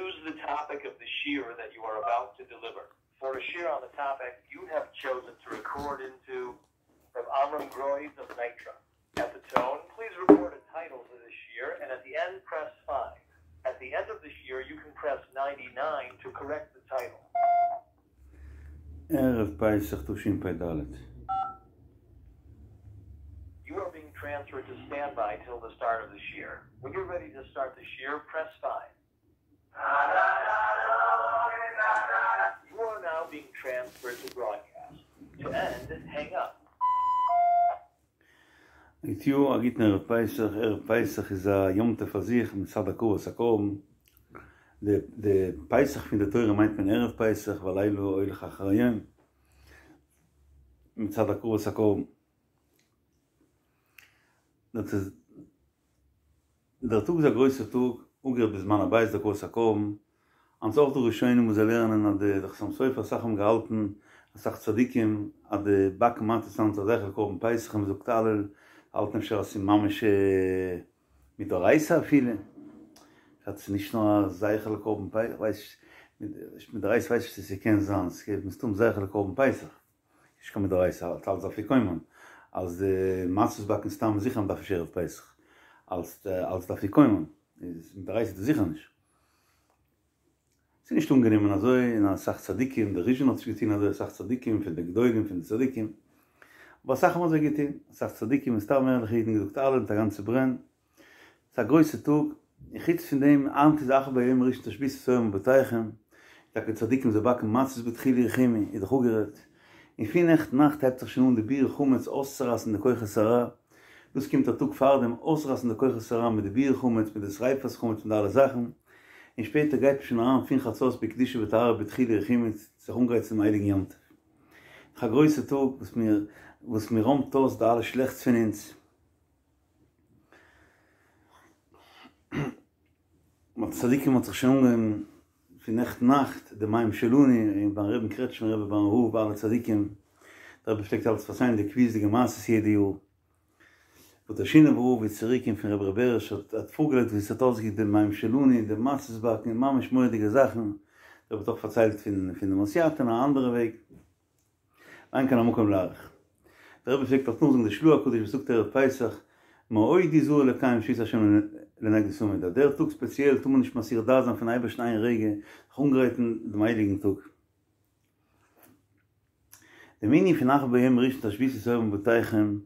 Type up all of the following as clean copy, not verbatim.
Choose the topic of the shiur that you are about to deliver. For a shiur on the topic you have chosen to record into Reb Amram Groiz of Nitra. At the tone, please record a title for the shiur and at the end press 5. At the end of the shiur you can press 99 to correct the title. ערב פסח תשפ"ד. You are being transferred to standby till the start of the shiur. When you're ready to start the shiur, press 5. You are now being transferred to broadcast. To end, hang up. גוט יאר, א גוטן ערב פסח, ערב פסח איז א יום טוב פאר זיך מצד הקרבת הקרבן, די די פסח פון די תורה מיינט מען ערב פסח והלילה הולך אחר היום, מצד הקרבת הקרבן. דאס איז דער טאג איז א גרויסער טאג, אפגערעדט בזמן הבית די הקרבת הקרבן, היינט איז אויך דא ראשונים וואס זיי לערנען אז די חתם סופר אסאך האבן געהאלטן, אסאך צדיקים, אז די באקן מצות היינט איז א זכר לקרבן פסח און מ'זאגט הלל, האלטן אפשר אז ס'איז ממש מדאורייתא אפילו, אז ס'איז נישט נאר א זכר לקרבן פסח, כ'ווייס נישט, מדאורייתא ווייס איך נישט צו ס'קען זיין, ס'איז מסתם זכר לקרבן פסח. נישט קיין מדאורייתא אלץ אלץ אפיקומן אז די מצות באקן סתם איז זיכער מ'דארף נישט ערב פסח אלץ אלץ די אפיקומן איז מדאורייתא איז דאס זיכער נישט. ס'איז נישט אנגענומען אזוי און אסאך צדיקים דער ריזשינער האט נישט געטון אזוי אסאך צדיקים פון די גדולים פון די צדיקים אבער אסאך האבן אזוי געטון אסאך צדיקים און סתם ערליכע אידן געזאגט הלל מיט א גאנצע ברען. ס'איז א גרויסע טאג, און חוץ פון דעם, היינט איז אך ביום הראשון תשביתו שאור מבתיכם, טאקע צדיקים זיי באקן מצות בדחילו ורחימו, איז דאך אפגערעדט, און פון נעכטן נאכט הייבט זיך שוין אן די ביעור חמץ אויסצורייסן די כוחות הרע, דאס קומט א טאג פארדעם, אויסרייסן די כוחות הרע מיט די ביעור חמץ, מיט די שריפת חמץ, מיט די אלע זאכן, און שפעטער גייט מען שוין אריין פון חצות בקדושה וטהרה בדחילו ורחימו זיך אנגרייטן צום הייליגן יום טוב. דאך א גרויסע טאג וואס מיר וואס מען רוימט אויס די אלע שלעכטס פון אונז. ביי צדיקים האט זיך שוין אנגעהויבן פון נעכטן נאכט די מים שלנו און ביים רבי'ן קרעטשניפער רבי ביים רב ביי אלע צדיקים, דער רבי פלעגט אלץ פארציילן די קביעות'דיגע מעשות יעדע יאר, וואס דער שינאווער רב איז צוריק פון רבי ר' בעריש האט האט פארגעלייגט ווי עס האט אויסגעקוקט די מים שלנו און די מצות באקן און ממש מורא'דיגע זאכן, דער רבי האט אויך פארציילט פון פון דעם הוסיאטין א אנדערע וועג. אין כאן המקום להאריך. דער רבי פלעגט אויך נאכזאגן די של"ה הקדוש וואס זאגט ערב פסח, מאוד יזהר לקיים שביתת השם לנגדי תמיד, אז דער טאג ספעציעל טאר מען נישט מסיח דעת זיין פון אייבערשטן איין רגע, זיך אנגרייטן דעם הייליגן טאג. דעם ענין פון אך ביום ראשון תשביתו שאור מבתיכם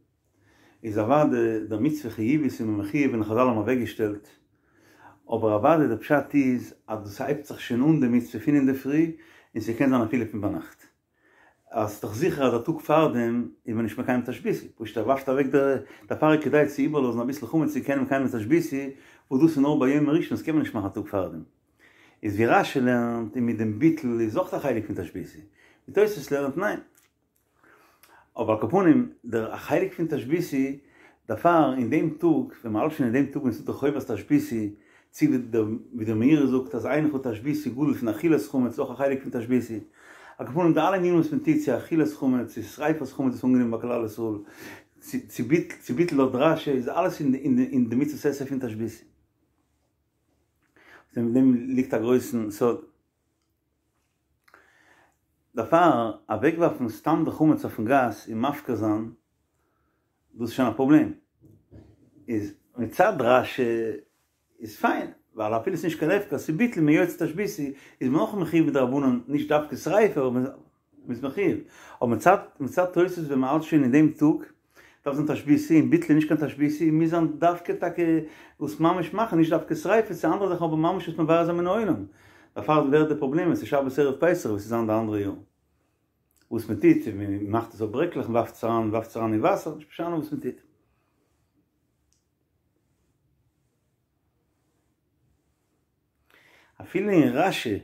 איז אוודאי דער מצוה חיובית איז מען מחויב און חזל האבן אוועקגעשטעלט, אבער אוודאי דער פשט איז אז דאס הייבט זיך שוין אן די מצוה פון אינדערפרי און ס'קען זיין אפילו פון ביינאכט. אז ס'איז דאך זיכער אז א טאג פארדעם איז מען נישט מקיים תשביתו, פשוט ער ווארפט אוועק די, דערפאר איז כדאי צו איבערלאזן אביסל חמץ צו קענען מקיים תשביתו, וואס דאס איז נאר ביום הראשון דאס קען מען נישט מאכן א טאג פארדעם. איז ווי רש"י לערנט און מיט דעם ביטול איז אויך א חלק פון תשביתו, ווי תוספות לערנט ניין. אבער על כל פנים, דער א חלק פון תשביתו, דערפאר אין דעם טאג, ווען מ'האלט שוין אין דעם טאג ווען ס'איז דא חובת תשביתו, צו ווי דער ווי דער מאירי זאגט אז אין לך תשביתו גדול פון אכילת חמץ איז אויך א חלק פון תשביתו. על כל פנים די אלע ענינים וואס מען טוט צו אכילת חמץ צו שריפת חמץ איז אנגענומען ביי כלל ישראל, צו צו ביטול לויט רש"י איז אלעס אין די אין די מצוות עשה פון תשביתו. אין דעם ליגט א גרויסן סוד. דערפאר אוועקווארפן סתם די חמץ אויפן גאס און מפקיר זיין, דאס איז שוין א פראבלעם. איז מצד רש"י איז פיין, ווייל אפילו ס'איז נישט קיין הפקר, ס'איז ביטול מ'איז יוצא תשביתו, איז מען אויך מחויב מדרבנן, נישט דווקא שריפה, אבער מ'איז מחויב. אבער מצד מצד תוס' ווען מ'האלט שוין אין דעם טאג, דארף זיין תשביתו, און ביטול איז נישט קיין תשביתו, מוז זיין דווקא טאקע וואס ממש מאכן, נישט דווקא שריפה, צו אנדערע זאכן אבער ממש וואס מבער זיין מן העולם. דערפאר ווערט די פראבלעם ווען ס'איז שבת ערב פסח ווי ס'איז זיין די אנדערע יאר. וואס מ'טוט, מ'מאכט עס אויף ברעקלעך, מ'ווארפט עס אריין, מ'ווארפט עס אריין אין וואסער, נישט משנה וואס מ'טוט. אפילו אין רש"י,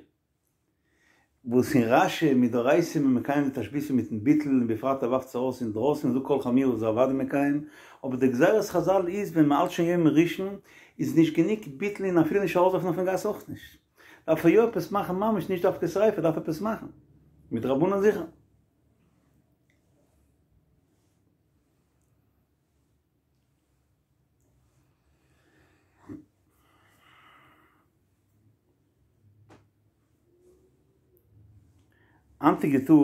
וואס אין רש"י מדאורייתא איז מען מקיים די תשביתו מיטן ביטול און בפרט ער ווארפט עס ארויס אינדרויסן און זאגט כל חמירא איז ער אוודאי מקיים, אבער די גזירת חזל איז ווען מ'האלט שוין יום ראשון איז נישט גענוג ביטול און אפילו נישט ארויסווארפן אויפן גאס אויך נישט. דארף ער יא עפעס מאכן ממש נישט דווקא שריפה דארף עפעס מאכן. מדרבנן זיכער. היינטיגע טאג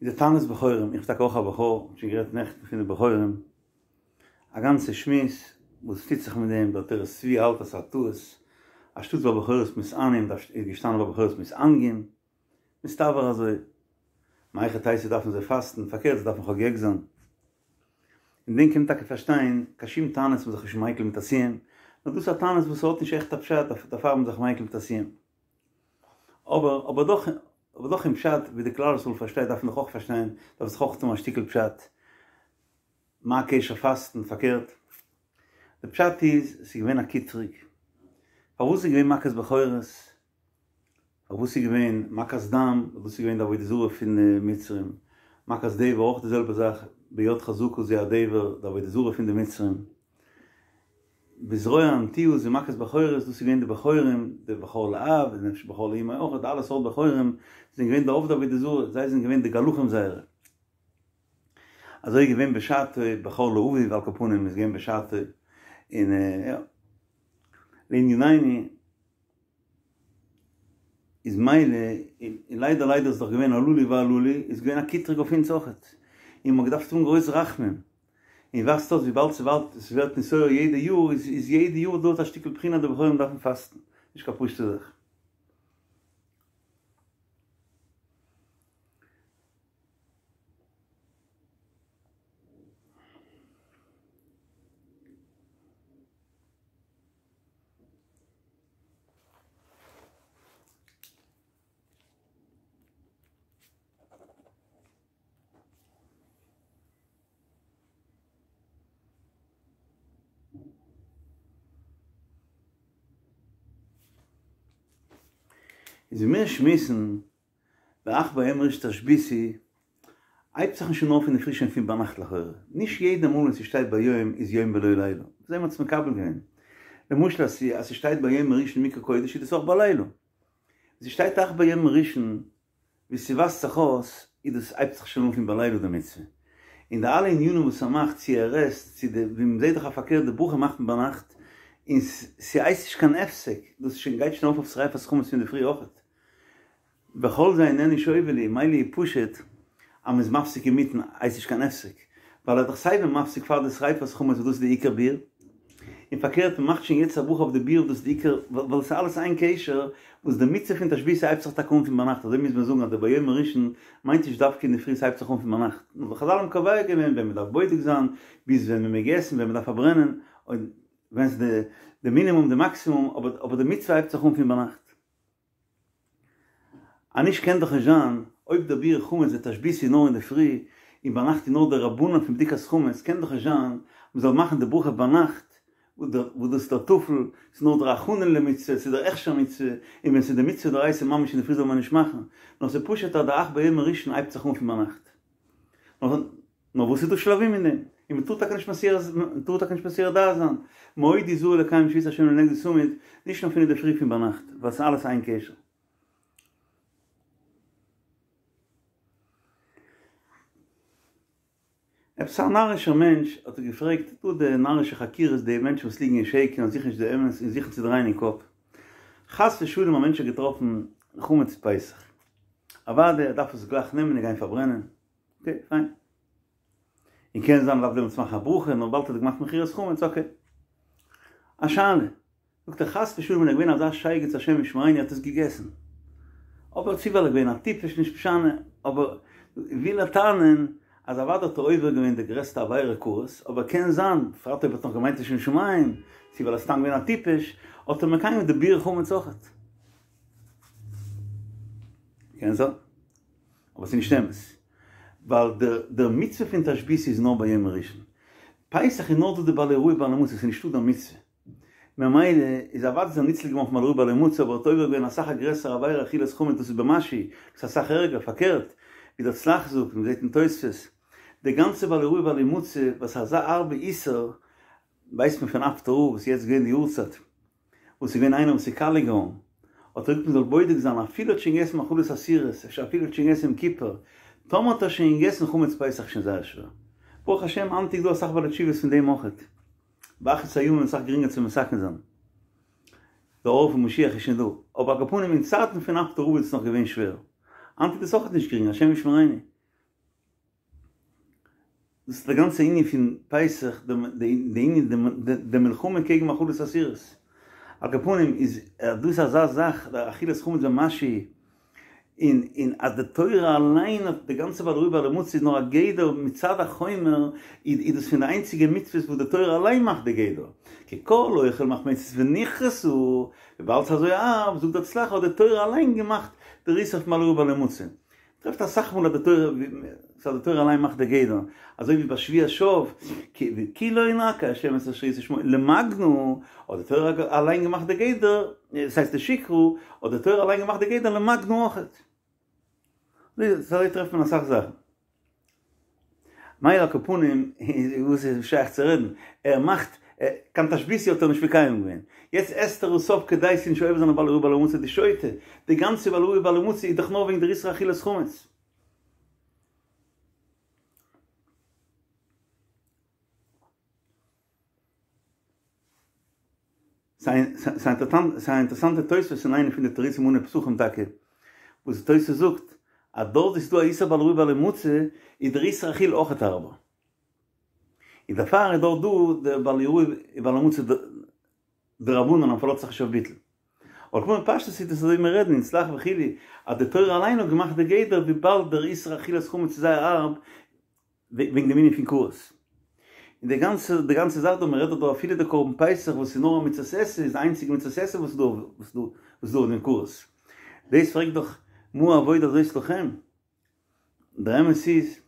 איז די תענית בכורים, איך בין טאקע אויך א בכור, שוין גערעדט נעכטן פון די בכורים, א גאנצע שמועס וואס טוט זיך מיט דעם, דער עטרת צבי האלט אז ס'איז א טעות, אנשטאט והבכורות מתענין דארף איז געשטאנען והבכורות מתענגין, מסתבר אזוי, מהיכי תיתי דארפן זיי פאסטן, פארקערט זיי דארפן חוגג זיין. אין דעם קען מען טאקע פארשטיין, קיין שום תענית איז מען זיך נישט מיקל מיט א סיום, נאר דאס איז א תענית וואס האט נישט עכט א פשט, דערפאר איז מען זיך מיקל מיט א סיום. אבער אבער דאך אבער דאך אין פשט ווי די כלל ישראל פארשטייט דארף מען דאך אויך פארשטיין, דארף זיך אויך טון א שטיקל פשט. מה הקשר פאסטן? פארקערט, די פשט איז, ס'איז געווען א קיטרוג. פארוואס איז געווען מכת בכורות? פארוואס איז געווען מכת דם? דאס איז געווען די עבודה זרה פון די מצרים. מכת דבר אויך די זעלבע זאך, ביד חזקה זה הדבר, די עבודה זרה פון די מצרים. בזרוע הנטויה זה מכת בכורות, דאס איז געווען די בכורים, די בכור לאב, און אפשר בכור לאמו אויך, די אלע סארט בכורים זענען געווען די עובדי עבודה זרה, זיי זענען געווען די גלחים זייערע. אזוי איז געווען בשעתו, בכור לאביו על כל פנים איז געווען בשעתו, און יא, לענינינו איז מילא, און ליידער ליידער איז דאך געווען הללו והללו, איז געווען א קיטרוג אויף אונז אויכעט, און מ'האט געדארפט האבן גרויס רחמים, און ווייזט אויס וויבאלד ס'ווערט נתעורר יעדע יאר, איז יעדע יאר דא א שטיקל בחינה אז די בכורים דארפן פאסטן, נישט קיין פשוטע זאך. איז ווי מיר שמועסן ואך ביום הראשון תשביתו, הייבט זיך נישט אן אויף אינדערפרי שוין פון ביינאכט לכאורה, נישט יעדע מאל ווען ס'שטייט ביום איז יום ולא לילה, אזוי מ'האט עס מקבל געווען, למשל אז ס'שטייט ביום הראשון מקרא קודש איז דאס אויך בלילה, ווען ס'שטייט אך ביום הראשון ווי ס'ווייזט זיך אויס איז דאס הייבט זיך שוין אן פון בלילה די מצוה, און די אלע ענינים וואס ער מאכט צו ער עסט צו די ווי מ'זעט דאך א פארקערט די ברכה מאכט מען ביינאכט און ס'הייסט נישט קיין הפסק דאס שוין גייט שוין ארויף אויף שריפת חמץ פון די פרי אויכעט. וכל זה איננו שוה לי, מילא איז פשוט אז מ'איז מפסיק אינמיטן הייסט נישט קיין הפסק, ווייל ער איז דאך סייווי מפסיק פאר די שריפת חמץ וואס דאס איז די עיקר ביעור, און פארקערט מ'מאכט שוין יעצט א ברכה אויף די ביעור דאס איז די עיקר, ווייל עס איז אלעס איין קשר, וואס די מצוה פון תשביתו הייבט זיך טאקע אן פון ביינאכט, אזוי מוז מען זאגן אז די ביום הראשון מיינט נישט דווקא אינדערפרי ס'הייבט זיך אן פון ביינאכט, נאר די חזל האבן קובע געווען ווען מ'דארף בודק זיין, ביז ווען מ'מעג עסן, ווען מ'דארף פארברענען, און ווען ס'איז די מינימום די מאקסימום, אבער די מצוה הייבט זיך אן פון ביינאכט. אז נישט קען דאך נישט זיין, אויב דער ביעור חמץ די תשביתו איז נאר אינדערפרי, און ביינאכט איז נאר דרבנן פון בדיקת חמץ, קען דאך נישט זיין מ'זאל מאכן די ברכה ביינאכט, וואס דאס איז דער טפל, ס'איז נאר דער הכנה למצוה, ס'איז דער הכשר מצוה, און ווען ס'איז די מצוה דאורייתא ממש אינדערפרי זאל מען נישט מאכן, נאר ס'איז פשוט אז די אך ביום הראשון הייבט זיך אן פון ביינאכט. נאר וואס איז דא שלבים אין דעם? און מ'טאר טאקע נישט מסיר, מ'טאר טאקע נישט מסיר דעת זיין. מאוד הזהר לקיים שביתת השם לנגדי תמיד, נישט נאר פון אינדערפרי פון ביינאכט, ווייל ס'איז אלעס איין קשר. עפעס א נארישער מענטש האט ער געפרעגט, דא די נארישע חקירות, די מענטשן וואס ליגן אין שקר און זוכן נישט די אמת און זוכן צו דרייען אין קאפ. חס ושלום א מענטש האט געטראפן חמץ פסח. אוודאי ער דארף עס גלייך נעמען און גיין פארברענען. אקעי, פיין. און קען זיין מ'דארף דעמאלטס מאכן א ברכה, נאר באלד האט ער געמאכט מכירת חמץ, אקעי. א שאלה. זאגט ער חס ושלום ווען ער געווען אזא שייגעץ השם ישמרינו האט עס געגעסן. אבער צו ווייל ער געווען א טיפש נישט משנה, אבער וויל ער טענה'ן אז אוודאי האט ער עובר געווען די גרעסטע עבירה כרת, אבער קען זיין, בפרט אויב ער האט נאך געמיינט לשם שמים, צו ווייל ער איז סתם געווען א טיפש, האט ער מקיים געווען די ביעור חמץ אויכעט. קען זיין. אבער ס'איז נישט אמת. ווייל דער מצוה פון תשביתו איז נאר ביום הראשון. פסח איז נאר דא די בל יראה ובל ימצא, ס'איז נישטא די מצוה. ממילא איז אוודאי איז ער ניצל געווארן פון בל יראה ובל ימצא אבער האט עובר געווען אסאך א גרעסערע עבירה אכילת חמץ דאס איז במשהו, דאס איז אסאך ערגער, פארקערט ווי דער צל"ח זאגט און מ'זעט אין תוספות, די גאנצע בל יראה ובל ימצא וואס אזא הארבע איסור ווייסט מען פון אפטער רב וואס איז יעצט געווען די יארצייט. וואס איז געווען איינער וואס איז קאליע געווארן, האט ער געזאגט מען זאל בודק זיין אפילו האט שוין געגעסן מאכלות אסורות, אפשר אפילו האט שוין געגעסן יום כיפור, טאמער האט ער שוין געגעסן חמץ פסח איז שוין זייער שווער. ברוך השם היינט איז דא אסאך בעלי תשובות פון דעם אויכעט. באחרית הימים איז אסאך גרינגער צו מתקן זיין. די אור פון משיח איז שוין דא. אבער על כל פנים אין צייטן פון אפטער רב איז עס נאך געווען שווער. היינט איז דאס אויכעט נישט גרינג, השם ישמרינו. דאס איז די גאנצע ענין פון פסח, די ענין, די מלחמה קעגן מאכלות אסורות. על כל פנים איז דאס אזא זאך, די אכילת חמץ במשהו, און און אז די תורה אליין האט די גאנצע בל יראה ובל ימצא איז נאר א גדר מצד החומר, איז דאס פון די איינציגע מצוות וואס די תורה אליין מאכט די גדר. כי כל אוכל מחמצת ונכרתה, וויבאלד ס'איז אזוי הארב, זאגט דער צל"ח האט די תורה אליין געמאכט דער איסור פון בל יראה ובל ימצא. טרעפט אסאך מאל אז די תורה אז די תורה אליין מאכט די גדר, אזוי ווי ביי שבועת שוא, כי לא ינקה ה' את אשר ישא שמו למגנא, האט די תורה אליין געמאכט די גדר, דאס הייסט לשקרא, האט די תורה אליין געמאכט די גדר למגנא אויכעט. אזוי טרעפט מען אסאך זאכן. מילא על כל פנים, וואס איז שייך צו רעדן, ער מאכט, קיין תשביתו האט ער נישט מקיים געווען, יעצט עסט ער עס אויף כדי ס'זאל נישט עובר זיין אויף בל יראה ובל ימצא די שוטה, די גאנצע בל יראה ובל ימצא איז דאך נאר וועגן דער איסור אכילת חמץ. ס'איז א אינטערעסאנטע תוספות אין איינע פון די תירוצים אנהייב פסחים טאקע, וואס די תוספות זאגט אז דארט וואו ס'איז דא א איסור בל יראה ובל ימצא איז דער איסור אכילה אויכעט הארבער, און דערפאר איז דארט דא דער בל יראה ובל ימצא דרבנן אז מ'פארלאזט זיך נישט אויף ביטול. אבער כמו בפשטות איז דאס אזוי ווי מיר רעדן אין צל"ח וכו' אז די תורה אליין האט געמאכט די גדר וויבאלד דער איסור אכילת חמץ איז זייער הארב וועגן דעם ענין פון כרת. און די גאנצע די גאנצע זאך דא, מען רעדט דאך דא אפילו די קרבן פסח וואס איז נאר א מצות עשה איז די איינציגע מצות עשה וואס איז דא וואס איז דא אויף דעם כרת. דאס פרעגט דאך מה העבודה הזאת לכם? דער אמת איז,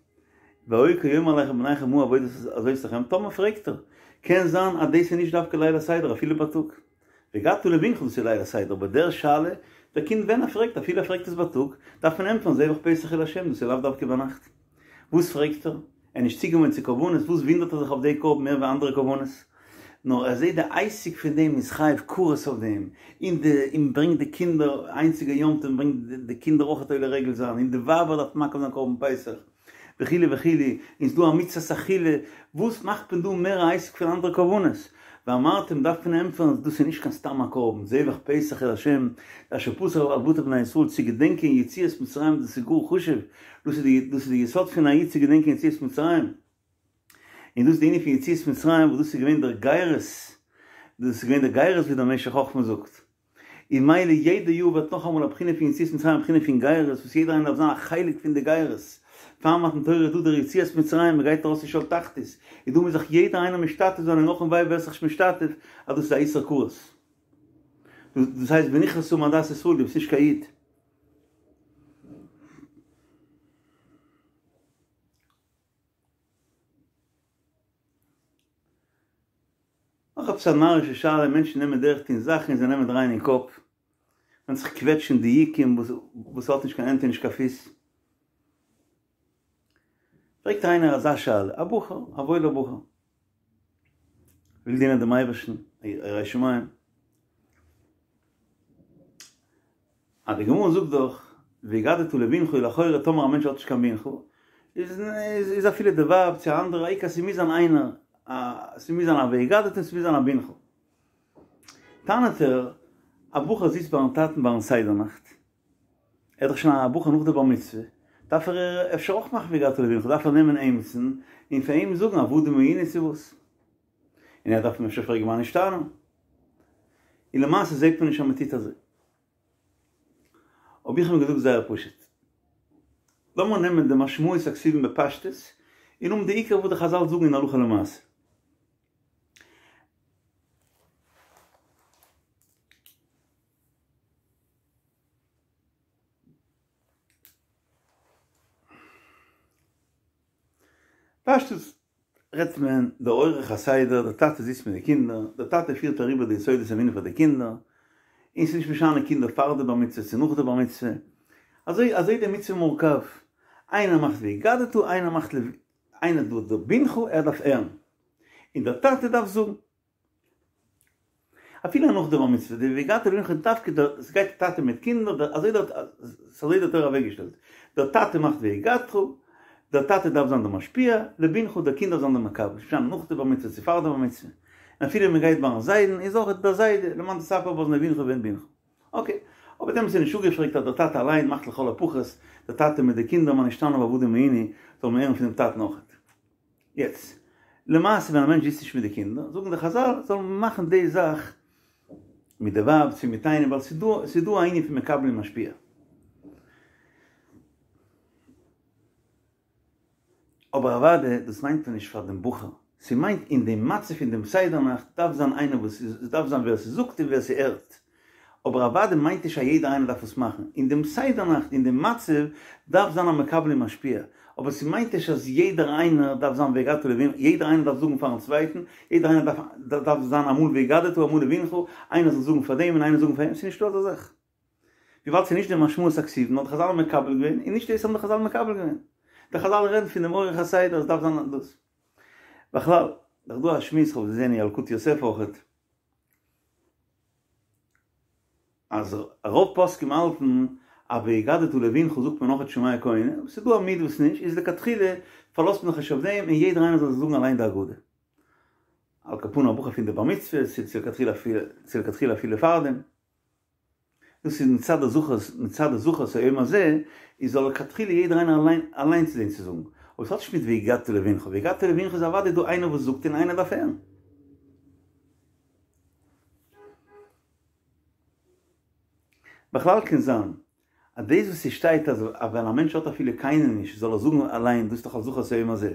והיה כי יאמר אליכם בניכם מה העבודה הזאת לכם, טאמער פרעגט ער, קען זיין אז דאס איז נישט דווקא ליל הסדר אפילו בייטאג. והגדת לבנך דאס איז ליל הסדר, אבער דער שאלה, דער קינד ווען ער פרעגט אפילו ער פרעגט עס בייטאג, דארף מען ענטפערן זבח פסח הוא לה' דאס איז לאו דווקא ביינאכט. וואס פרעגט ער? ער איז נישט צוגעוואוינט צו קרבנות, וואס וואונדערט ער זיך אויף די קרבן מער ווי אנדערע קרבנות? נאר ער זעט די עסק פון דעם איז חייב כרת אויף דעם, און די און ברענגט די קינדער, איינציגע יום טוב ברענגט די קינדער אויכעט עולה רגל זיין, און די ווייבער דארף מקריב זיין קרבן פסח, וכו' וכו', און ס'דא א מצוות אכילה, וואס מאכט מען דא מער א עסק פון אנדערע קרבנות? ואמרתם דארף מען ענטפערן אז דאס איז נישט קיין סתם א קרבן, זבח פסח הוא לה', אשר פסח על בתי בני ישראל צו געדענקען יציאת מצרים דאס איז גאר חשוב, דאס איז די דאס איז די יסוד פון א איד צו געדענקען יציאת מצרים, און דאס איז די ענין פון יציאת מצרים וואס דאס איז געווען דער גירות, דאס איז געווען דער גירות ווי דער משך חכמה זאגט, און מילא יעדע יאר ווערט נאכאמאל א בחינה פון יציאת מצרים א בחינה פון גירות וואס יעדער איינער דארף זיין א חלק פון די גירות, פאר מתן תורה איז דא דער יציאת מצרים מען גייט ארויס פון שאול תחתית, איז דא מוז זיך יעדער איינער משתתף זיין און אך און וויי ווער ס'איז נישט משתתף אז דאס איז א איסור כרת. דאס הייסט ונכרתה מעדת ישראל דו ביסט נישט קיין איד. נאך עפעס א נארישע שאלה, מענטשן נעמען דורך טון זאכן און זיי נעמען דרייען אין קאפ, און זיך קוועטשן דיוקים וואס האט נישט קיין הענט און נישט קיין פיס. פרעגט איינער אזא שאלה, א בחור, א וואוילער בחור, וויל דינען דעם אייבערשטן, א ירא שמים, אז די גמרא זאגט דאך והגדת לבנך לכאורה טאמער א מענטש האט נישט קיין בנך איז איז אפילו די ווייב צו א אנדערע העיקר ס'מוז זיין איינער א ס'מוז זיין א והגדת און ס'מוז זיין א בנך. טענה'ט ער, א בחור זיצט ביים טאטן ביים סדר נאכט, ער איז דאך שוין א בחור נאך די בר מצוה, דארף ער אפשר אויך מאכן והגדת לבנך, דארף ער נעמען עימיצן און פאר אים זאגן עבדים היינו צו וואס. און ער דארף אים אפשר פרעגן מה נשתנה. און למעשה זעט מען נישט אז מ'טוט אזוי. האב איך אים געזאגט זייער פשוט, לאמיר נעמען די משמעות הכתובים בפשטות, און האבן די עיקר וואס די חזל זאגן אין הלכה למעשה. פשטות רעדט מען די אורח הסדר, די טאטע זיצט מיט די קינדער, די טאטע פירט אריבער די יסודות האמונה פאר די קינדער, און ס'איז נישט משנה קינדער פאר די בר מצוה צו נאך די בר מצוה, אזוי אזוי די מצוה מורכב, איינער מאכט והגדת, איינער מאכט איינער דא דער בנך ער דארף הערן, און דער טאטע דארף זאגן. אפילו נאך די בר מצוה, די והגדת לבנך איז דווקא די, ס'גייט טאטע מיט קינדער, די אזוי דארט, ס'אזוי די תורה אוועקגעשטעלט, דער טאטע מאכט והגדת, דער טאטע דארף זיין דער משפיע, לבנך דער קינד דארף זיין דער מקבל, נישט משנה נאך די בר מצוה צו פאר די בר מצוה, און אפילו מען גייט ביים זיידן איז אויך דער זיידע, למען תספר באזני בנך ובן בנך. אקעי, אבער דעמאלטס איז נישט אפגעפרעגט אז דער טאטע אליין מאכט לכל הפחות, דער טאטע מיט די קינדער מה נשתנה ועבדים היינו, זאל מען הערן פונעם טאטן אויכעט. יעצט, למעשה ווען א מענטש זיצט נישט מיט די קינדער, זאגן די חזל זאל מען מאכן די זאך מיט די ווייב צו מיט איינעם, ווייל ס'איז דא ס'איז דא א ענין פון מקבל און משפיע. אבער אוודאי דאס מיינט מען נישט פאר דעם בחור, ס'מיינט אין דעם מצב פון דעם סדר נאכט דארף זיין איינער וואס עס דארף זיין ווער ס'זאגט און ווער ס'הערט, אבער אוודאי מיינט נישט אז יעדער איינער דארף עס מאכן, אין דעם סדר נאכט אין דעם מצב דארף זיין א מקבל און משפיע, אבער ס'מיינט נישט אז יעדער איינער דארף זיין והגדת לבנך, יעדער איינער דארף זאגן פארן צווייטן, יעדער איינער דארף דארף זיין אמאל והגדת אמאל לבנך, איינער זאל זאגן פאר דעם און איינער זאגן פאר יענעם, ס'נישטא אזא זאך. וויבאלד ס'איז נישט די משמעות הכתובים האט די חזל מקבל געווען, און נישט דאס האבן די חזל מקבל געווען. די חזל רעדן פון דעם אורח הסדר אז ס'דארף זיין דאס. בכלל, דאך דא א שמועס, כ'האב געזען אין ילקוט יוסף אויכעט, אז רוב פוסקים האלטן אז והגדת לבנך זאגט מען אויכעט שומע כעונה, אבער ס'איז דא א מיעוט וואס נישט, איז לכתחילה פארלאזט מען זיך נישט אויף דעם און יעדער איינער זאל זיך זאגן אליין די הגדה. על כל פנים א בחור פון די בר מצוה, צו לכתחילה אפילו פארדעם. דאס איז מצד הזכור, מצד הזכור את היום הזה, איז זאל לכתחילה יעדער איינער אליין אליין צו זען צו זאגן. אבער עס האט נישט מיט והגדת לבנך, והגדת לבנך איז אוודאי דא איינער וואס זאגט און איינער דארף הערן. בכלל קען זיין אז דאס וואס ס'שטייט אז ווען א מענטש האט אפילו קיינעם נישט זאל ער זאגן אליין, דאס איז דאך על זכור את היום הזה.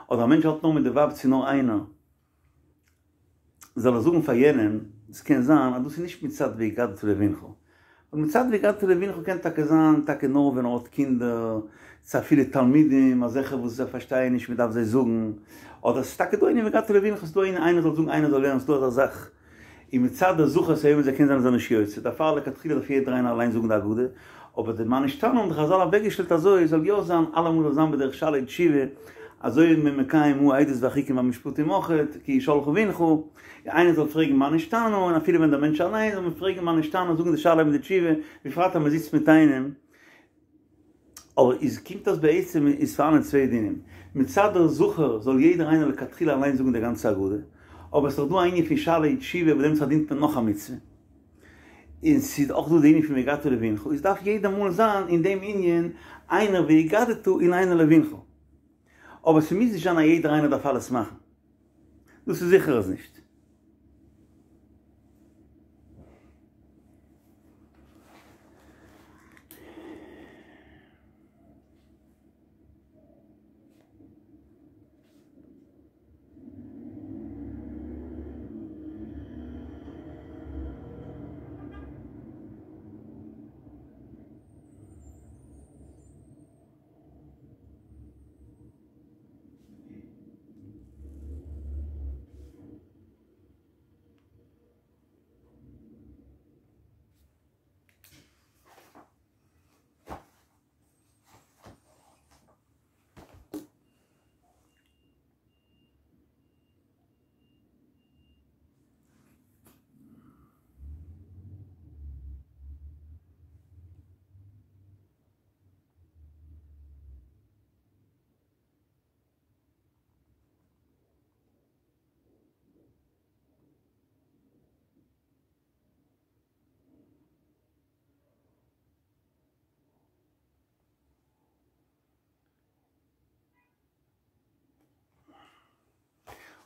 אדער א מענטש האט נאר מיט די ווייב צו נאר איינער. זאל ער זאגן פאר יענעם, עס קען זיין אז דאס איז נישט מצד והגדת לבנך, ווייל מצד והגדת לבנך קען טאקע זיין טאקע נאר ווען ער האט קינדער, צו אפילו תלמידים אזעלכע וואס זיי פארשטייען נישט מען דארף זיי זאגן, אדער עס איז טאקע דא ענין והגדת לבנך, עס איז דא ענין איינער זאל זאגן איינער זאל לערנען, עס איז דא אזא זאך. און מצד די זכור את היום הזה קען זיין אז ער איז נישט יוצא, דערפאר לכתחילה דארף יעדער איינער אליין זאגן די הגדה, אבער די מה נשתנה האבן די חזל אוועקגעשטעלט אזוי זאל יא זיין אלעמאל זאל זיין בדרך שאלה ותשובה, אזוי איז מען מקיים העדות והחוקים והמשפטים אויכעט, כי ישאלך בנך, איינער זאל פרעגן מה נשתנה, און אפילו ווען דער מענטש אליין זאל מען פרעגן מה נשתנה, זאגן די שאלה מיט די תשובה, בפרט אז מען זיצט מיט איינעם. אבער איז קומט אויס בעצם איז פארהאנען צוויי דינים, מצד דער זכור זאל יעדער איינער לכתחילה אליין זאגן די גאנצע הגדה, אבער עס איז דאך דא א ענין פון שאלה ותשובה וואס דעמאלטס פארדינט מען נאך א מצוה, און ס'איז אויך דא די ענין פון והגדת לבנך, איז דארף יעדע מאל זיין אין דעם ענין איינער והגדת און איינער לבנך, אבער ס'מוז נישט זיין אז יעדער איינער דארף אלעס מאכן, דאס איז זיכער אז נישט.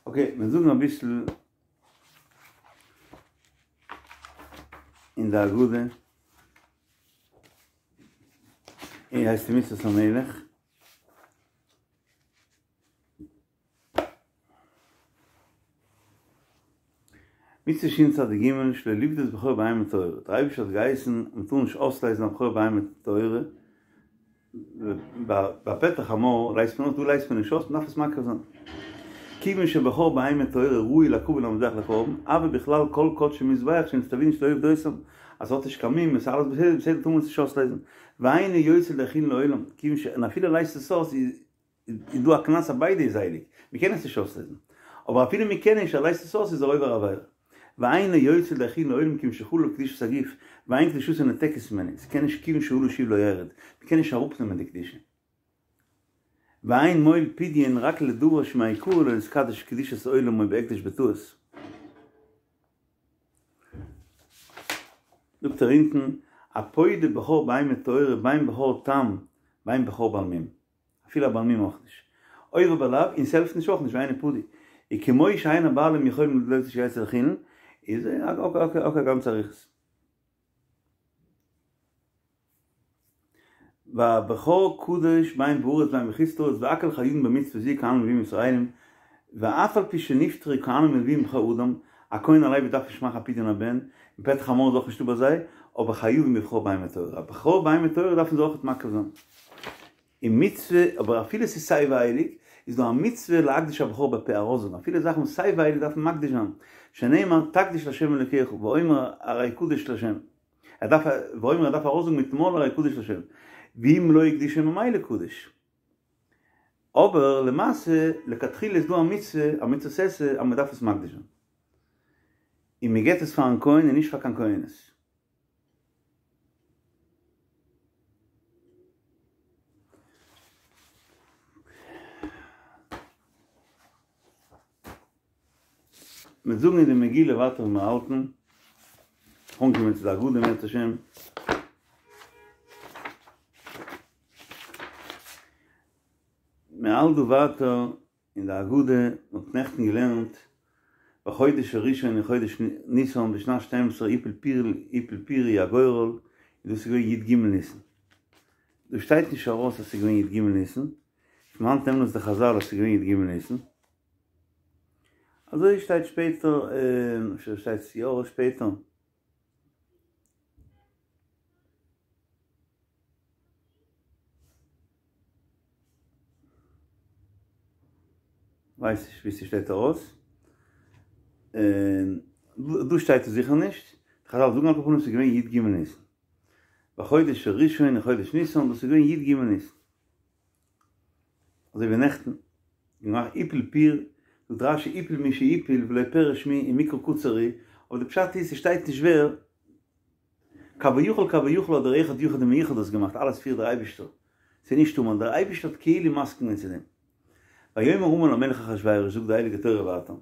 אקעי, מיר זאגן אביסל אין די הגדה, און הייסט די מצוות המלך. מצוה שין צדיק ג' שלא לפדות בכור בהמה טהורה, דער אייבערשטער האט געהייסן מען טאר נישט אויסלייזן א בכור בהמה טהורה, ביי פטר חמור לייזט מען אויס, דא לייזט מען נישט אויס, מען דארף עס מקריב זיין. כיוון שבכור בהמה טהורה ראוי להקרב למזבח לקרבן, אבל בכלל כל קדשי מזבח שנצטווינו שלא לפדותם, אז ס'האט נישט קיין מום, עס איז אלעס בסדר, בסדר טאר מען עס נישט אויסלייזן, ואינו יוצא לידי חולין לעולם, כיוון ש און אפילו לייזט עס אויס איז איז דא א קנס אז ביידע איז הייליג, מען קען עס נישט אויסלייזן, אבער אפילו מען קען נישט, ער לייזט עס אויס איז ער עובר עבירה. ואינו יוצא לידי חולין לעולם כי אם שחלה קדושת הגוף, ואין קדושתו ניתקת ממנו, ס'קען נישט כיוון שעלה שוב לא ירד, מ'קען נישט אראפנעמען די קדושה. ואין מועיל פדיון רק לדבר שמעיקרא לא נתקדש קדושת עולם או בהקדש בטעות. זאגט ער אונטן, הפודה בכור בהמה טהורה בין בכור תם בין בכור בעל מום. אפילו א בעל מום אויך נישט. עובר בלאו, און ס'העלפט נישט אויך נישט ואינו פדוי. וכמו שאין הבעלים יכולים להוציא שיצא לחולין, איז אקעי א גאנצע אריכות. והבכור קדוש בין בארץ בין בחוץ לארץ והכל חייבין במצוה זו כהנים ולוויים וישראלים ואף על פי שנפטרו כהנים ולוויים מבכור אדם, א כהן א לוי דארף נישט מאכן א פדיון הבן, און פטר חמור איז אויך נישטא ביי זיי, אבער חייבים בבכור בהמה טהורה, א בכור בהמה טהורה דארפן זיי אויכעט מקריב זיין. און מצוה, אבער אפילו ס'איז סיי ווי הייליג, איז דא א מצוה להקדיש הבכור בפה ארויסזאגן, אפילו זאכן וואס סיי ווי הייליג דארף מען מקדיש זיין, שנאמר תקדיש לה' אלוקיך ואומר הרי קדוש לה', ער דארף, ואומר ער דארף ארויסזאגן מיטן מויל הרי קדוש לה', ואם לא הקדישו ממילא קדוש. אבער למעשה, לכתחילה איז דא א מצוה, א מצוות עשה, אז מען דארף עס מקדיש זיין. און מען געבט עס פארן כהן און נישט פאר קיין כהנת. מיר זאגן אין די מגילה ווייטער וואו מיר האלטן, אנקומען צו די הגדה אם ירצה השם. מען האלט דא ווייטער אין די הגדה, מען האט נעכטן געלערנט בחודש הראשון אין חודש ניסן בשנת שתים עשרה הפיל פור הפיל פורי הגורל, און דאס איז געווען י ג ניסן. דא שטייט נישט ארויס אז ס'איז געווען י ג ניסן, פון וואנעט נעמען עס די חזל אז ס'איז געווען י ג ניסן? אזוי שטייט שפעטער, אפשר שטייט עס יא ארויס שפעטער. ווייס נישט ווי ס'שטייט ארויס. דא שטייט עס זיכער נישט. חזל זאגן על כל פנים ס'איז געווען י ג ניסן. בחודש הראשון אין חודש ניסן, דאס איז געווען י ג ניסן. אזוי ווי נעכטן, געמאכט הפיל פור, זאגט רש י הפיל מי שהפיל ולא פירש מי ומקרא קצר הוא, אבער די פשט איז ס'שטייט נישט ווער, כביכול כביכול האט דער אחד יחיד ומיוחד דאס געמאכט, אלעס פירט דער אייבישטער, ס'איז נישט המן, דער אייבישטער האט כאילו מסכים געווען צו דעם. ויאמר המן למלך אחשורוש, זאגט די הייליגע תורה ווייטער,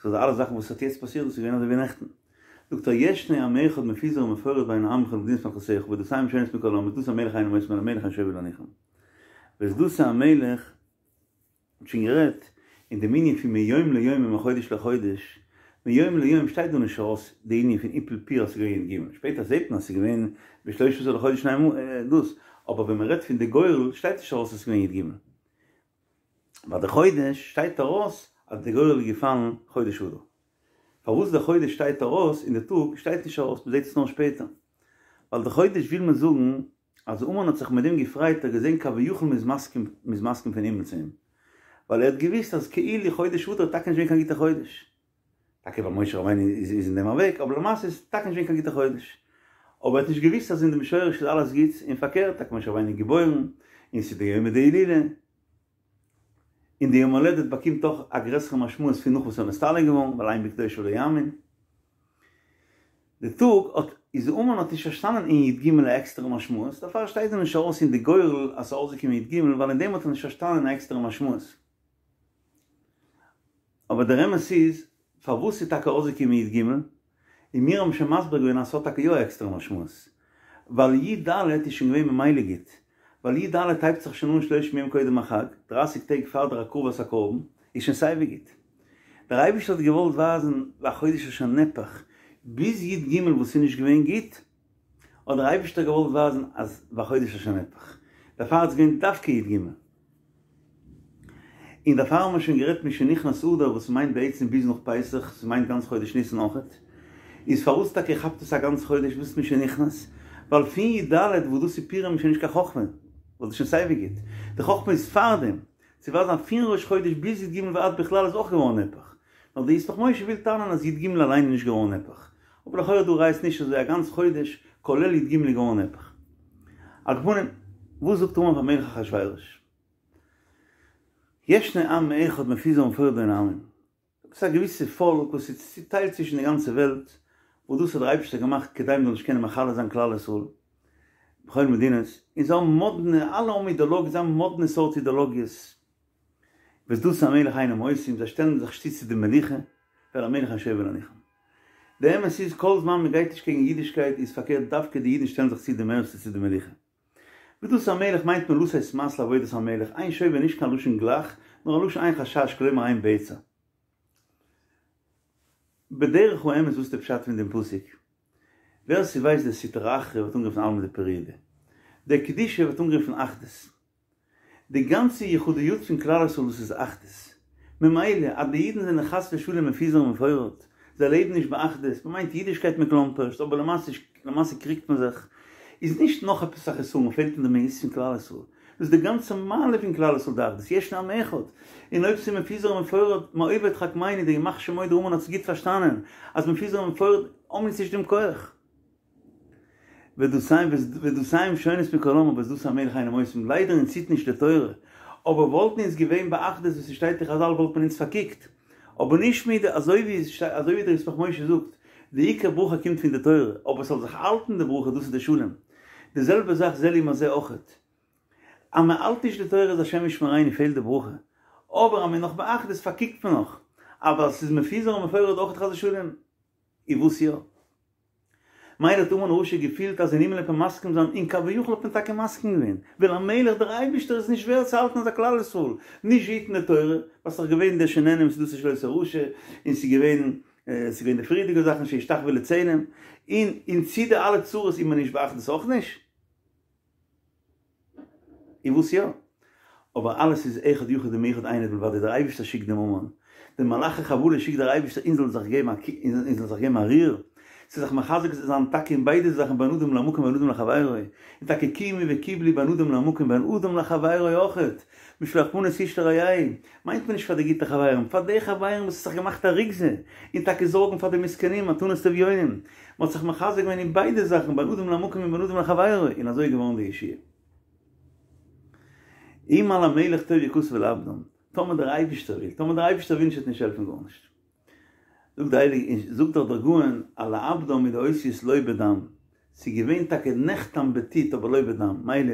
סאו די אלע זאכן וואס האט יעצט פאסירט דאס איז געווען אזוי ווי נעכטן. זאגט ער ישנו עם אחד מפוזר ומפורד בין עמך למדינות מלכותך ודתיהם שונות מכל העם ודתי המלך אינה נמאסה מן המלך ואין שווה להניחם. ואת דתי המלך האט שוין גערעדט אין דעם ענין פון מיום ליום ומחודש לחודש, מיום ליום שטייט דא נישט ארויס די ענין פון הפיל פור אז ס'איז געווען י ג, שפעטער זעט מען אז ס'איז געווען בשלושה עשר לחודש ניין דאס, אבער ווען מ'רעדט פון די גורל שטייט נישט ארויס אז ס'איז געווען י ג. ביי די חודש שטייט ארויס אז די גורל איז געפאלן חודש אדר. פארוואס די חודש שטייט ארויס און די טאג שטייט נישט ארויס, מ'זעט עס נאר שפעטער. ווייל די חודש וויל מען זאגן אז המן האט זיך מיט דעם געפרייט, ער האט געזען כביכול מ'איז מסכים, מ'איז מסכים פון הימל צו אים. ווייל ער האט געוואוסט אז כאילו חודש אדר איז טאקע נישט געווען קיין גוטע חודש. טאקע ווייל משה רבינו איז אין דעם אוועק, אבער למעשה איז טאקע נישט געווען קיין גוטע חודש. אבער ער האט נישט געוואוסט אז אין דעם שורש איז אלעס גוטס, און פארקערט, טאקע משה רבינו איז געבוירן, און ס'איז די יומא דהילולא, און די יום הולדת באקומט אויך א גרעסערע משמעות פון נאך וואס ער איז נסתלק געווארן, ווייל אין בקדושיו לא יאמין. די טאג האט איז המן האט נישט פארשטאנען אין י ג א עקסטערע משמעות, דערפאר שטייט דא נישט ארויס אין די גורל אז ס'איז אויסגעקומען י ג, ווייל אין דעם האט ער נישט פארשטאנען א עקסטערע משמעות. אבער דער אמת איז, פארוואס איז טאקע אויסגעקומען י ג? און מיר האבן שוין מסביר געווען אז ס'האט טאקע יא א עקסטערע משמעות. ווייל י ד איז שוין געווען ממילא גוט. ווייל י ד הייבט זיך שוין אן שלושים יום קודם החג, דרייסיג טעג פאר דער הקרבת הקרבן, איז שוין סייווי גוט. דער אייבערשטער האט געוואלט ווייזן והחודש אשר נהפך, ביז י ג וואס איז נישט געווען גוט, האט דער אייבערשטער געוואלט ווייזן אז והחודש אשר נהפך. דערפאר איז געווען דווקא י ג. און דערפאר האבן מיר שוין גערעדט משנכנס אדר וואס מיינט בעצם ביז נאך פסח, ס'מיינט גאנץ חודש ניסן אויכעט, איז פארוואס טאקע כאפט עס א גאנץ חודש וואס משנכנס? ווייל פון י ד וואס דאס איז פורים איז שוין נישט קיין חכמה, ווייל דאס איז שוין סייווי גוט, די חכמה איז פארדעם, צו ווייזן אז פון ראש חודש ביז י ג ועד בכלל איז אויך געווארן נהפך, נאר די ישמח משה וויל טענה'ן אז י ג אליין איז נישט געווארן נהפך, אבער לכאורה דא רייסט נישט אזוי א גאנץ חודש כולל י ג איז געווארן נהפך. על כל פנים, וואס זאגט המן פאר מלך אחשורוש? ישנו עם אחד מפוזר ומפורד בין העמים. ס'איז א געוויסע פאלק וואס איז צוטיילט צווישן די גאנצע וועלט, וואס דאס האט דער אייבערשטער געמאכט כדי מ'זאל נישט קענען מכלה זיין כלל ישראל בכל מדינות, און זיי האבן מאדנע, אלע האבן אידעלאגיעס, זיי האבן מאדנע סארט אידעלאגיעס, ואת דתו המלך אינם עושים, זיי שטעלן זיך נישט צו צו די מלוכה, ואל המלך אין שווה להניחם. די אמת איז כל זמן מ'גייט נישט קעגן אידישקייט איז פארקערט דווקא די אידן שטעלן זיך צו די מערסטע צו די מלוכה. ואת דתו המלך מיינט מען לתת מס לעבודת המלך, אין שווה נישט קיין לשון גלח, נאר א לשון אין חשש כלומר אין בצע. בדרך האמת וואס איז די פשט פון דעם פסוק? ווער ס'ווייסט די סטרא אחרא ווערט אנגערופן עלמא דפרידא. די קדושה ווערט אנגערופן אחדות. די גאנצע יחודיות פון כלל ישראל דאס איז אחדות. ממילא אז די אידן זענען חס ושלום מפוזר ומפורד, זיי לעבן נישט באחדות, מ'מיינט אידישקייט מקלומפערשט אבער למעשה למעשה קריגט מען זיך, איז נישט נאך עפעס א חסרון, פעלט אין די מהות פון כלל ישראל. דאס איז די גאנצע מעלה פון כלל ישראל די אחדות, ישנו עם אחד. און אויב ס'איז מפוזר ומפורד, מאויבי תחכמני, די ימח שמו דער המן האט עס גוט פארשטאנען, אז מפוזר ומפורד האבן אונז נישט דעם כח. ודתיהם שונות מכל עם אבער את דת המלך אינם עושים, ליידער אונז היט נישט די תורה, אבער וואלטן אונז געווען באחדות ווי ס'שטייט אין חזל וואלט מען אונז פארקוקט, אבער נישט מיט די אזוי ווי אזוי ווי דער ישמח משה זאגט, די עיקר ברכה קומט פון די תורה, אבער ס'זאל זיך האלטן די ברכה דאס איז די שלום, די זעלבע זאך זה לעומת זה אויכעט, אז מען האלט נישט די תורה איז השם ישמרינו פעלט די ברכה, אבער אז מען איז נאך באחדות פארקוקט מען נאך, אבער אז ס'איז מפוזר ומפורד אויכעט חס ושלום, איז וואס יא? מילא האט המן הרשע געפילט אז אין הימל וועט מען מסכים זיין, און כביכול האט מען טאקע מסכים געווען, ואל המלך דער אייבישטער איז נישט ווערד צו האלטן אזא כלל ישראל, נישט היטן די תורה, ווייל ס'איז דאך געווען די שנהנו מסעודתו של אותו רשע, און ס'איז געווען ס'איז געווען די פריערדיגע זאכן שישתחוו לצלם, און און צו די אלע צרות איז מען נישט באחדות אויך נישט. און וואס יא? אבער אלעס איז אחד יחיד ומיוחד אין עוד מלבדו, דער אייבערשטער שיקט דעם המן, די מלאכי חבלה שיקט דער אייבערשטער אונז זאלן זיך געבן א אונז זאלן זיך געבן א ריר, צו זיך מחזק זיין טאקע אין ביידע זאכן בין אדם למקום בין אדם לחבירו, און טאקע קימו וקיבלו בין אדם למקום בין אדם לחבירו אויכעט, משלוח מנות איש לרעהו, מיינט מען נישט פאר די גוטע חברים, פאר די חברים וואס האט זיך געמאכט א רוגזה, און טאקע זארגן פאר די מסכנים, מתנות לאביונים, מען האט זיך מחזק געווען אין ביידע זאכן בין אדם למקום און בין אדם לחבירו, און אזוי איז געווארן די ישועה. אם על המלך טוב יכתב לאבדם, טאמער דער אייבישטער וויל, טאמער דער אייבישטער וויל נישט וועט נישט העלפן גארנישט. זאגט די הייליגע, זאגט דאך דער גאון אז לאבדם מיט די אותיות לא בדם, ס'איז געווען טאקע נחתם בטיט אבער לא בדם, מילא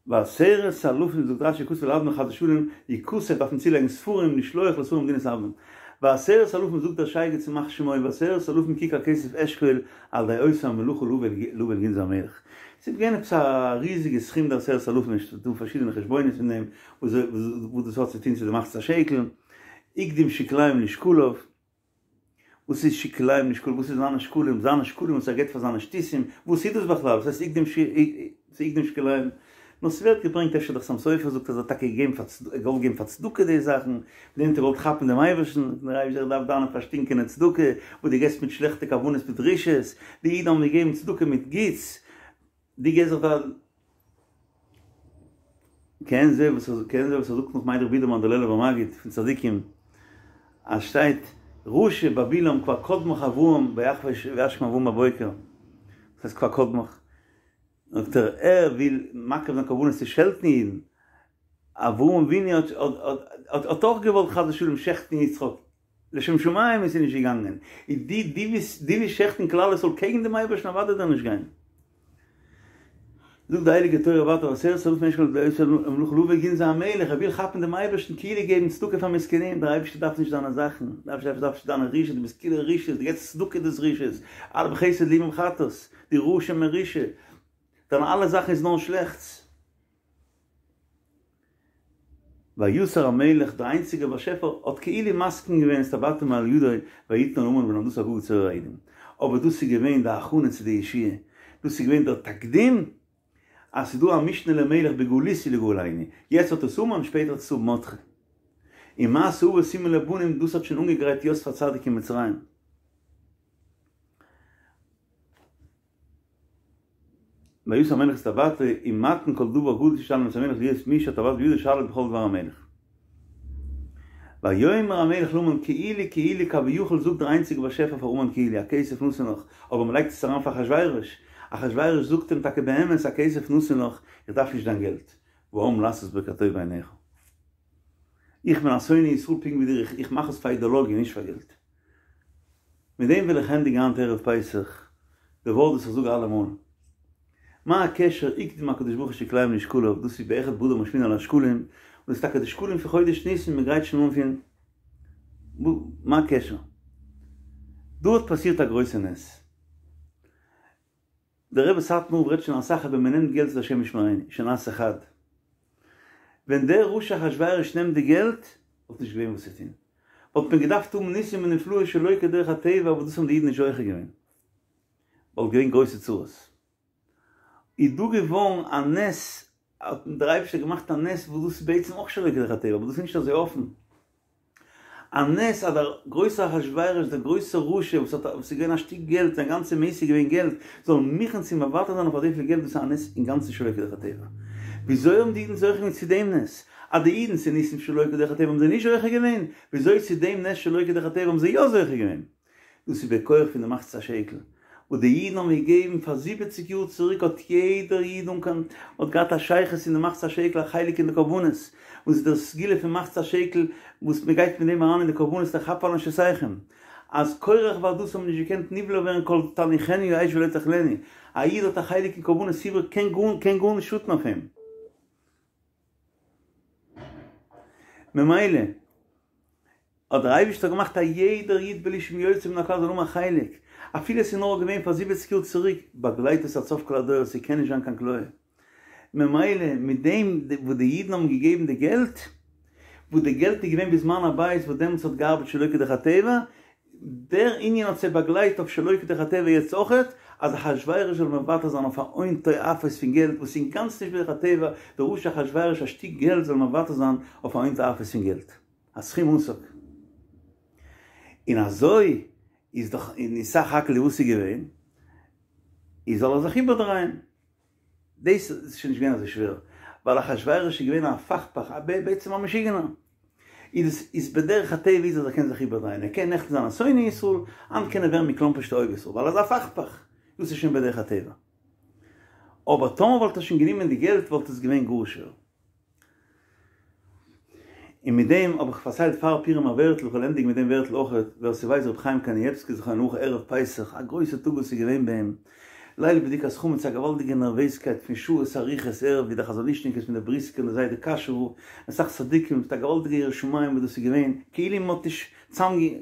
ועשרת אלפים זאגט רש"י יכתב לאבדם חס ושלום יכתב דארף מען צולייגן ספרים לשלוח לשרים במדינות אבדם ועשרת אלפים זאגט דער שייגעץ ימח שמו ועשרת אלפים ככר כסף אשכול על ידי אותה המלאכה להביא אל גנזי המלך ס'איז געווען עפעס א ריזיגע סכום די עשרת אלפים עס איז דא פארשידענע חשבונות פון דעם וואס דאס האט צו טון צו די מחצית השקל הקדים שקליהם לשקליו. וואס איז שקליהם לשקליו? וואס איז זיינע שקלים? זיינע שקלים וואס ער געבט פאר זיינע שטותים, וואס איז דאס בכלל? וואס הייסט הקדים הקדים שקליהם? נאר ס'ווערט געברענגט אפשר דער חתם סופר זאגט אז ער האט טאקע געגעבן פאר צדקה, ער געוואלט געבן פאר צדקה די זאכן, מיט דעם האט ער געוואלט כאפן דעם אייבערשטן, דער אייבערשטער דארף דיינע פארשטינקענע צדקה, וואס דו געבסט מיט שלעכטע כוונות מיט רשעות, די אידן האבן געגעבן צדקה מיט גוטס, דו געבסט זיך דא. כעין זה וואס כעין זה וואס ער זאגט נאך מיין ר' בידערמאן דער לעלובער מגיד פון צדיקים אז שטייט רשע ביי בלעם כבר קדמך אברהם וישכם אברהם בבוקר וואס הייסט כבר קדמך? זאגט ער ער וויל מקריב זיין קרבנות צו שעלטן אידן אברהם אבינו האט האט האט אויך געוואלט חס ושלום שעכטן יצחק לשם שמים איז נישט געגאנגען איז דו דו ווילסט דו ווילסט שעכטן כלל ישראל קעגן דעם אייבערשטן אוודאי וועט ער נישט גיין. זאגט די הייליגע תורה ווייטער ועשרת אלפים אשכול על ידי אותה המלאכה להביא אל גנזי המלך, ער וויל כאפן דעם אייבערשטן כאילו געבן צדקה פאר מסכנים, דער אייבערשטער דארף נישט דיינע זאכן, דער אייבערשטער דארף נישט דיינע רשעות, דו ביסט כולו רשעות, דו געבסט צדקה דאס רשעות, אלע בחסד לאומים חטאת, דו רשע מרושע, דיינע אלע זאכן איז נאר שלעכטס. ויסר המלך, דער איינציגער באשעפער, האט כאילו מסכים געווען את טבעתו מעל ידו ויתנה אל המן ולהמדתא אגג צורר היהודים. אבער דאס איז געווען די הכנה צו די ישועה, דאס איז געווען דער תקדים אז ס'איז דא א משנה למלך בגלותא לגאלנו, יעצט האט עס המן, שפעטער האט עס מרדכי. און מעשה אבות סימן לבנים, דאס האט שוין אנגעגרייט יוסף הצדיק אין מצרים. ויסר המלך את טבעתו ומתן כל דבר גדול תשאל מאת המלך להיות מי שהטבעת בידו שליט בכל דבר המלך. ויאמר המלך להמן כאילו כאילו כביכול זאגט דער איינציגער באשעפער פאר המן כאילו הכסף נתון לך אבער מען לייגט עס אריין פאר אחשורוש, אחשורוש זאגט אים טאקע באמת הכסף נתון לך איך דארף נישט דיין געלט והעם לעשות בו כטוב בעיניך. איך בין א שונא ישראל פונקט ווי דיר, איך מאך עס פאר אידעלאגיע נישט פאר געלט. מיט דעם וויל איך ענדיגן היינט ערב פסח די ווארט וואס איך זאג אלעמאל, מה הקשר הקדים הקדוש ברוך הוא שקליהם לשקליו, דאס איז באחד באדר משמיעין על השקלים, און דאס איז טאקע די שקלים פון חודש ניסן, מען גרייט שוין אן פון, מה הקשר? דא האט פאסירט א גרויסע נס. דער רבי סאטמאר רב רעדט שוין אסאך אז ווען מען נעמט געלט איז השם ישמרינו, שנעשה חד. ווען דער רשע אחשורוש נעמט די געלט, וואלט נישט געווען וואס צו טון. וואלט מען געדארפט האבן ניסים ונפלאות שלא כדרך הטבע וואס דאס האבן די אידן נישט זוכה געווען. וואלט געווען גרויסע צרות. איז דא געווארן א נס, האט דער אייבערשטער געמאכט א נס וואס דאס איז בעצם אויך שלא כדרך הטבע, אבער דאס איז נישט אזוי אפן. א נס אז דער גרויסער אחשורוש, דער גרויסער רשע וואס האט וואס איז געווען א שטיק געלט, זיין גאנצע מהות איז געווען געלט, זאל מוכן צו מוותר זיין אויף אזויפיל געלט, דאס איז א נס אינגאנצן שלא כדרך הטבע. וויאזוי האבן די אידן זוכה געווען צו דעם נס? אז די אידן צו ניסים שלא כדרך הטבע האבן זיי נישט זוכה געווען, וויאזוי צו דעם נס שלא כדרך הטבע האבן זיי יא זוכה געווען? דאס איז בכח פון די מחצית השקל וואס די אידן האבן געגעבן פאר זיבעציג יאר צוריק האט יעדער איד אן קיין האט געהאט א שייכות אין די מחצית השקל א חלק אין די קרבנות וואס איז דער סגולה פון מחצית השקל וואס מען גייט מיט דעם אריין אין די קרבנות לכפר על נפשותיכם אז קורח ועדתו האבן נישט געקענט נבלע ווערן כל תניחנו האש ולא תאכלנו א איד האט א חלק אין קרבנות ציבור קען גארנישט שאטן אויף אים ממילא האט דער אייבערשטער געמאכט א יעדער איד בלי שום יוצא מן הכלל זאל האבן א חלק, אפילו עס איז נאר געווען פאר זיבעציג יאר צוריק, באגלייט עס עד סוף כל הדורות, ס'קען נישט זיין קיין כליה. ממילא מיט דעם וואס די אידן האבן געגעבן די געלט, וואס די געלט איז געווען בזמן הבית וואס דעמאלטס האט געארבעט שלא כדרך הטבע, דער ענין האט זיי באגלייט אויף שלא כדרך הטבע יעצט אויכעט, אז אחשורוש זאל מוותר זיין אויף א הון תועפות פון געלט וואס איז אינגאנצן נישט בדרך הטבע, דער רשע אחשורוש א שטיק געלט זאל מוותר זיין אויף א הון תועפות פון געלט. א סכום עתק. און אזוי איז דאך אין סך הכל וואס איז געווען, איז זאל ער זיך איבערדרייען. דאס איז שוין נישט געווען אזוי שווער, ווייל אחשורוש איז געווען א הפכפך, א בעצם א משוגענער. איז עס איז בדרך הטבע איז אז ער קען זיך איבערדרייען, ער קען נעכטן זיין א שונא ישראל, היינט קען ער ווערן מכלומפערשט אוהב ישראל, ווייל ער איז א הפכפך. דאס איז שוין בדרך הטבע. אבער טאמער וואלט ער שוין גענומען די געלט וואלט עס געווען גאר שווער. און מיט דעם האב איך פארציילט פאר פורים א ווערטל, איך וועל ענדיגן מיט דעם ווערטל אויכעט, ווער ס'ווייסט רבי חיים קנייבסקי זכרונו לברכה ערב פסח, א גרויסע טאג וואס איז געווען ביי אים, ליל בדיקת חמץ א געוואלדיגע נערוועזקייט פון שעות ארוכות ערב ווי די חזון איש'ניקעס מיט די בריסקער און די זיידע קאשוי און אסאך צדיקים מיט א געוואלדיגע יראת שמים וואס דאס איז געווען כאילו מ'האט נישט צאמגע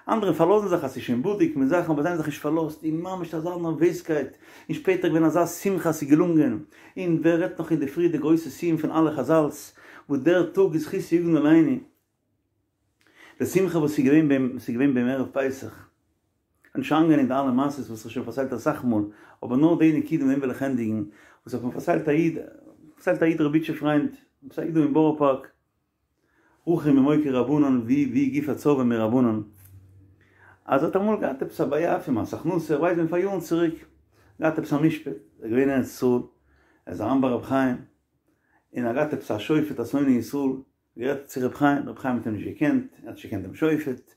אנדערע פארלאזן זיך אז ס'איז שוין בדוק מיט זאכן אבער זיי האבן זיך נישט פארלאזט און ממש אזא נערוועזקייט און שפעטער געווען אזא שמחה אז ס'איז געלונגען און ווער רעדט נאך אינדערפרי די גרויסע סיום פון אלע חזל'ס וואס דער טאג איז זכותו יגן עלינו די שמחה וואס איז געווען ביים ס'איז געווען ביים ערב פסח כ'וועל נישט אריינגיין אין די אלע מעשות וואס כ'האב שוין פארציילט אסאך מאל אבער נאר די נקודה מיט דעם וויל איך ענדיגן וואס האט מיר פארציילט א איד פארציילט א איד ר' איטשע פריינד עפעס א איד דא אין בארא פארק רחום ממוקי רבנן ווי ווי גופא צורבא מרבנן אז ער האט אמאל געהאט עפעס א בעיה פון מס הכנסה איך ווייס ווען פאר יארן צוריק געהאט עפעס א משפט ער איז געווען אין ארץ ישראל ער איז אריין ביי רבי חיים און ער האט געהאט עפעס א שופט א שונא ישראל גערעדט צו רבי חיים רבי חיים האט אים נישט געקענט ער האט נישט געקענט דעם שופט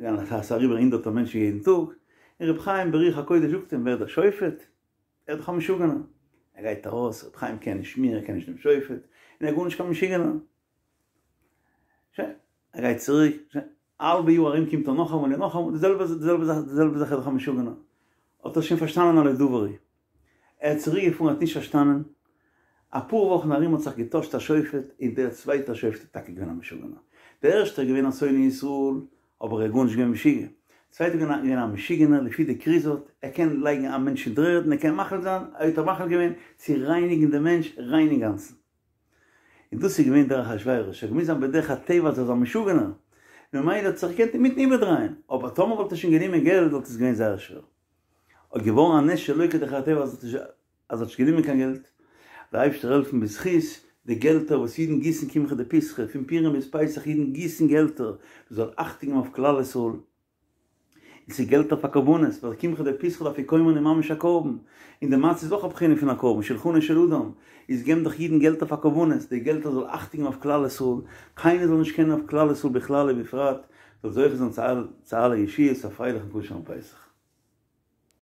ס'איז אריבער הונדערטער מענטשן יעדן טאג און רבי חיים ברוח הקודש זאגט אים ווער איז דער שופט ער איז דאך א משוגענער. ער גייט ארויס, רבי חיים קען נישט מיר, ער קען נישט דעם שופט, און ער איז גארנישט קיין משוגענער. שוין, ער גייט צוריק, שוין, א האלבע יאר ארום קומט ער נאכאמאל און נאכאמאל, די זעלבע די זעלבע זאך, די זעלבע זאך, ער איז דאך א משוגענער. האט ער שוין פארשטאנען הלא דבר הוא. ער איז צוריק געפארן, האט נישט פארשטאנען. אפאר וואכן ארום האט זיך געטוישט א שופט, און דער צווייטער שופט איז טאקע געווען א משוגענער. דער ערשטער איז געווען א שונא ישראל, אבער ער איז גארנישט געווען משוגע. צווייטער איז געווען א משוגענער לפי די כריזות, ער קען לייגן א מענטש אין דר'ערד און ער קען מחליט זיין, ער האט מחליט געווען צו רייניגן דעם מענטש ריין אינגאנצן. און דאס איז געווען דער אחשורוש, ער האט געמוזט זיין בדרך הטבע אז ער איז א משוגענער, ממילא האט זיך געקענט אינמיטן איבערדרייען, אבער טאמער וואלט ער שוין גענומען געלט וואלט עס געווען זייער שווער. איז געווארן א נס שלא כדרך הטבע אז ער האט נישט גענומען קיין געלט, דער אייבערשטער העלפן בזכות די געלטער וואס אידן גיסן קמחא דפסחא, פון פורים ביז פסח אידן גיסן געלטער, מען זאל אכטונג געבן אויף כלל ישראל, און ס'איז געלטער פאר קרבנות, ווייל קמחא דפסחא די אפיקומן איז ממש א קרבן, און די מצה איז אויך א בחינה פון א קרבן, שלחנו של אדם, איז געבן דאך אידן געלטער פאר קרבנות, די געלטער זאל אכטונג געבן אויף כלל ישראל, קיינער זאל נישט קענען אויף כלל ישראל בכלל ובפרט, זאל זוכה זיין צו אלע ישועות, א פרייליכן כשר'ן פסח.